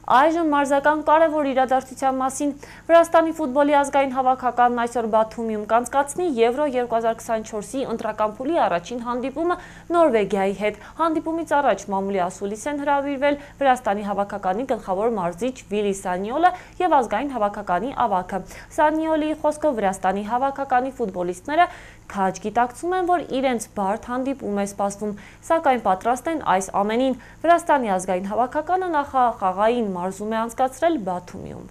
Այժմ մարզական կարևոր իրադարձության մասին Վրաստանի ֆուտբոլի ազգային հավաքականն այսօր Բաթումիում կանցկացնի Եվրո 2024-ի ընտրական փուլի առաջին հանդիպումը Նորվեգիայի հետ։ Հանդիպումից առաջ մամուլի ասուլիս են հրավիրվել Վրաստանի հավաքականի գլխավոր մարզիչ Վիլի Սանիոլը և ազգային հավաքականի ավագը։ Սանիոլիի խոսքով Վրաստանի հավաքականի ֆուտբոլիստները քաջ գիտակցում են, որ իրենց բարդ հանդիպում է սպասվում, սակայն պատրաստ են այս ամենին։ Վրաստանի ազգային հավաքականը նախախաղային մարզում է անցկացրել Բաթումիում։